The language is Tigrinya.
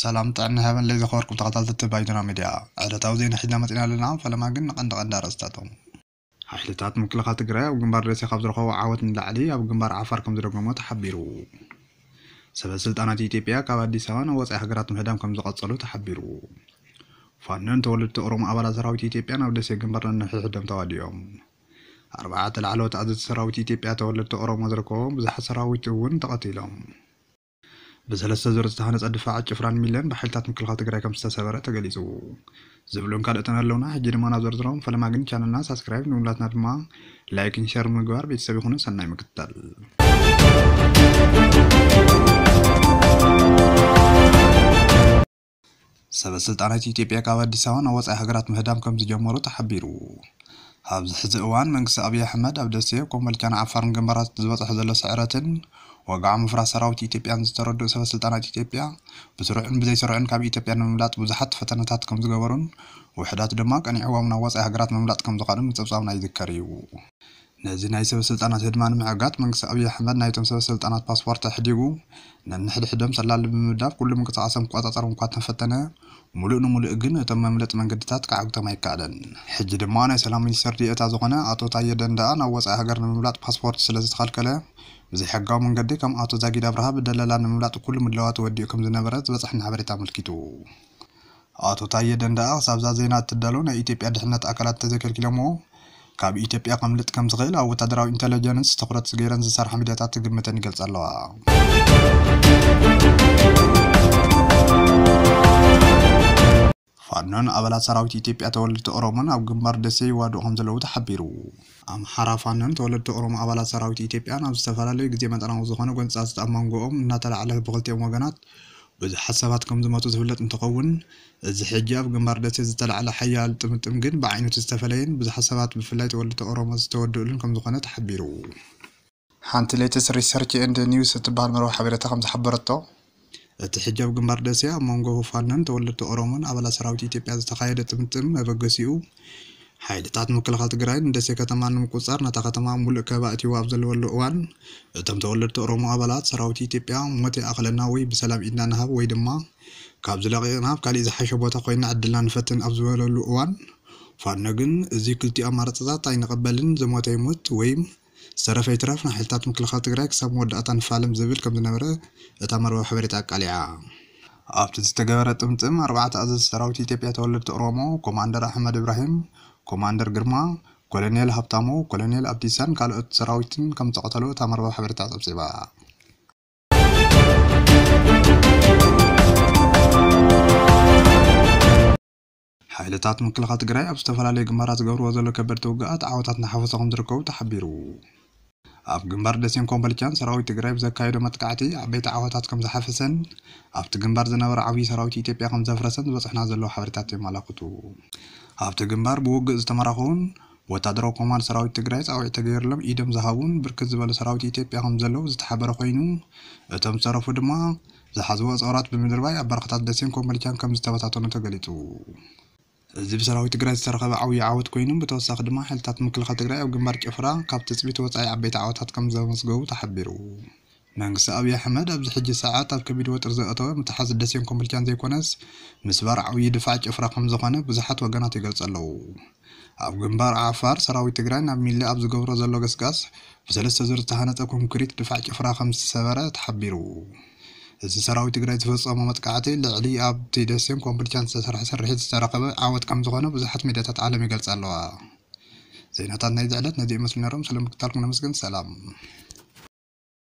ሰላም ጥዕና ሃበን ለይ ዘኸበርኩም ተኸታተልቲ ባይቶና ሚድያ፣ ዕለታዊ ዜና ሒዝና መፂና ኣለና። ፈለማ ግን ንቐንዲ ቀንዲ ኣርእስታቶም። ሓይልታት ምክልኻል ትግራይ ኣብ ግንባር ደሴ ካብ ዝረኸቦ ዓወት ንላዕሊ ኣብ ግንባር ዓፋር ከም ዝደገሞ ተሓቢሩ። ሰበ ስልጣናት ኢትዮጵያ ካብ ኣዲስ ኣበባ ናብ ወፃኢ ሃገራት ምህዳም ከም ዝቐጸሉ ተሓቢሩ። ፋኖን ተወለድቲ ኦሮሞ ኣባላት ሰራዊት ኢትዮጵያ ናብ ደሴ ግንባር ነንሕድሕዶም ተዋዲኦም። ኣርባዕተ ላዕለዎት ኣዘዝቲ ሰራዊት ኢትዮጵያ ተወለድቲ ኦሮሞ ዝርከቦም ብዙሓት ሰራዊት እውን ተቐቲሎም። ብሰለስተ ዙር ዝተሃነፀ ድፋዕ ጭፍራን ሚለን ብሓይልታት ምክልኻል ትግራይ ከም ዝተሰበረ ተገሊፁ። ዝብሉን ካልኦትን ኣለውና። ሕጂ ድማ ናብ ዝርዝሮም። ፈለማ ግን ቻነልና ሳብስክራይብ፣ ንውላትና ድማ ላይክን ሸር ምግባር ቤተሰብ ይኹኑ። ሰናይ ምክትታል። ሰበ ስልጣናት ኢትዮጵያ ካብ ኣዲስ ኣበባ ናብ ወፃኢ ሃገራት ምህዳም ከም ዝጀመሩ ተሓቢሩ። ኣብዚ ሕዚ እዋን መንግስቲ ኣብይ ኣሕመድ ኣብ ደሴ፣ ኮምቦልቻን ዓፋርን ግንባራት ዝበፅሖ ዘሎ ስዕረትን ወግዓዊ ምፍራስ ሰራዊት ኢትዮጵያን ዝተረድኡ ሰበ ስልጣናት ኢትዮጵያ፣ ብስሩዕን ብዘይስሩዕን ካብ ኢትዮጵያ ንምምላጥ ብዙሓት ፈተነታት ከም ዝገበሩን ውሑዳት ድማ ቀኒዕዎም ናብ ወፃኢ ሃገራት ምምላጥ ከም ዝኸኣሉን ምፅብፃብና ይዝከር እዩ። ነዚ ናይ ሰበ ስልጣናት ህድማ ንምዕጋት መንግስቲ ኣብይ ኣሕመድ ናይቶም ሰበ ስልጣናት ፓስፖርት ኣሕዲጉ ነንሕድሕዶም ሰላሊ ብምምዳብ ኩሉ ምንቅስቃሶም ክቆፃፀሮም እኳ እንተፈተነ፣ ሙሉእ ንሙሉእ ግን እቶም መምለጢ መንገድታት ክዓግቶም ኣይከኣለን። ሕጂ ድማ ናይ ሰላም ሚኒስተር ዲኤታ ዝኾነ ኣቶ ታየ ደንደኣ ናብ ወፃኢ ሃገር ንምምላጥ ፓስፖርት ስለ ዝተኸልከለ፣ ብዘይሕጋዊ መንገዲ ከም ኣቶ ዛጊድ ኣብርሃ ብደለላ ንምምላጥ ኩሉ ምድላዋት ወዲኡ ከም ዝነበረ ዝበፅሐና ሓበሬታ ኣመልኪቱ። ኣቶ ታየ ደንደኣ ክሳብዛ ዜና እትዳሎ ናይ ኢትዮጵያ ድሕነት ኣካላት እንተዘይከልኪሎምዎ፣ ካብ ኢትዮጵያ ከምልጥ ከም ዝኽእል ኣብ ወታደራዊ ኢንተለጀንስ ትኹረት ገይረን ዝሰርሓ ሚድያታት ትግምተን ይገልጻ ኣለዋ። ፋኖን ኣባላት ሰራዊት ኢትዮጵያ ተወለድቲ ኦሮሞን ኣብ ግንባር ደሴ ይዋድኡ ከም ዘለዉ ተሓቢሩ። ኣምሓራ ፋኖን ተወለድቲ ኦሮሞ ኣባላት ሰራዊት ኢትዮጵያን ኣብ ዝተፈላለዩ ግዜ መጠናዊ ዝኾነ ጎንጻታት ኣብ መንጎኦም እናተላዕለ ብክልቲኦም ወገናት ብዙሓት ሰባት ከም ዝሞቱ ዝፍለጥ እንትኸውን፣ እዚ ሕጂ ኣብ ግንባር ደሴ ዝተላዕለ ሓያል ጥምጥም ግን ብዓይነቱ ዝተፈለየን ብዙሓት ሰባት ብፍላይ ተወለድቲ ኦሮሞ ዝተወድኡሉን ከም ዝኾነ ተሓቢሩ። ሓንቲ ሌተስት ሪሰርች ኤንድ ኒውስ እትበሃል መርበብ ሓበሬታ ከም ዝሓበረቶ፣ እቲ ሕጂ ኣብ ግንባር ደሴ ኣብ መንጎ ፋኖን ተወለድቲ ኦሮሞን ኣባላት ሰራዊት ኢትዮጵያ ዝተኻየደ ጥምጥም መበገሲኡ ሓይልታት ምክልኻል ትግራይ ንደሴ ከተማ ንምቁፅፃር ነታ ከተማ ሙሉእ ከበባ ኣእትይዋ ኣብ ዘለወሉ እዋን፣ እቶም ተወለድቲ ኦሮሞ ኣባላት ሰራዊት ኢትዮጵያ ሞት ይኣኽለና ወይ ብሰላም ኢድና ንሃብ ወይ ድማ ካብዚ ለቒቕና ኣብ ካሊእ ዝሓሸ ቦታ ኮይንና ዕድልና ንፈትን ኣብ ዝበለሉ እዋን፣ ፋኖ ግን እዚ ክልቲኡ ኣማራፅታት ኣይንቐበልን፣ ዝሞተ ይሙት ወይም ዝተረፈ ይትረፍ ንሓይልታት ምክልኻል ትግራይ ክሳብ መወዳእታ ንፋለም ዝብል ከም ዝነበረ እታ መርበብ ሓበሬታ ኣቃሊዓ። ኣብቲ ዝተገበረ ጥምጥም ኣርባዕተ ኣዘዝቲ ሰራዊት ኢትዮጵያ ተወለድቲ ኦሮሞ፣ ኮማንደር ኣሕመድ እብራሂም፣ ኮማንደር ግርማ፣ ኮሎኔል ሃብታሙ፣ ኮሎኔል ኣብዲሳን ካልኦት ሰራዊትን ከም ዝተቐተሉ እታ መርበብ ሓበሬታ ጸብጺባ። ሓይልታት ምክልኻል ትግራይ ኣብ ዝተፈላለዩ ግንባራት ዝገብርዎ ዘሎ ከበድቲ ውግኣት ዓወታት እናሓፈሱ ከም ዝርከቡ ተሓቢሩ። ኣብ ግንባር ደሴን ኮምቦልቻን ሰራዊት ትግራይ ብዘካየዶ መጥቃዕቲ ዓበይቲ ዓወታት ከም ዝሓፈሰን ኣብቲ ግንባር ዝነበረ ዓብዪ ሰራዊት ኢትዮጵያ ከም ዘፍረሰን ዝበፅሑና ዘለዉ ሓበሬታት የመላኽቱ። ኣብቲ ግንባር ብውግእ ዝተመረኹን ወታደራዊ ኮማንድ ሰራዊት ትግራይ ፃውዒት ተገይሩሎም ኢዶም ዝሃቡን ብርክት ዝበሉ ሰራዊት ኢትዮጵያ ከም ዘለዉ ዝተሓበረ ኮይኑ፣ እቶም ዝተረፉ ድማ ዝሓዝዎ ፆራት ብምድርባይ ኣብ በረኻታት ደሴን ኮምቦልቻን ከም ዝተበታተኑ ተገሊፁ። እዚ ብሰራዊት ትግራይ ዝተረኸበ ዓብዪ ዓወት ኮይኑ፣ ብተወሳኺ ድማ ሓይልታት ምክልኻል ትግራይ ኣብ ግንባር ጭፍራ ካብ ትፅቢት ወፃኢ ዓበይቲ ዓወታት ከም ዘመዝገቡ ተሓቢሩ። መንግስቲ ኣብዪ ኣሕመድ ኣብዚ ሕጂ ሰዓት ኣብ ከቢድ ወጥሪ ዘእተወ ምትሓዝ ደሴን ኮምቦልቻን ዘይኮነስ፣ ምስባር ዓብዪ ድፋዕ ጭፍራ ከም ዝኾነ ብዙሓት ወገናት ይገልጹ ኣለዉ። ኣብ ግንባር ዓፋር ሰራዊት ትግራይ ናብ ሚለ ኣብ ዝገብሮ ዘሎ ገስጋስ ብሰለስተ ዙር ዝተሃነፀ ኮንክሪት ድፋዕ ጭፍራ ከም ዝተሰበረ ተሓቢሩ። እዚ ሰራዊት ትግራይ ዝፈጸሞ መጥቃዕቲ ልዕሊ ኣብቲ ደሴን ኮምቦልቻን ዝተሰርሐ ስርሒት ዝተረኸበ ዓወት ከም ዝኾነ ብዙሓት ሚድያታት ዓለም ይገልጻ ኣለዋ። ዜናታት ናይዚ ዕለት ነዚ ይመስሉ ነይሮም። ስለ ምክታልኩም ነመስግን። ሰላም።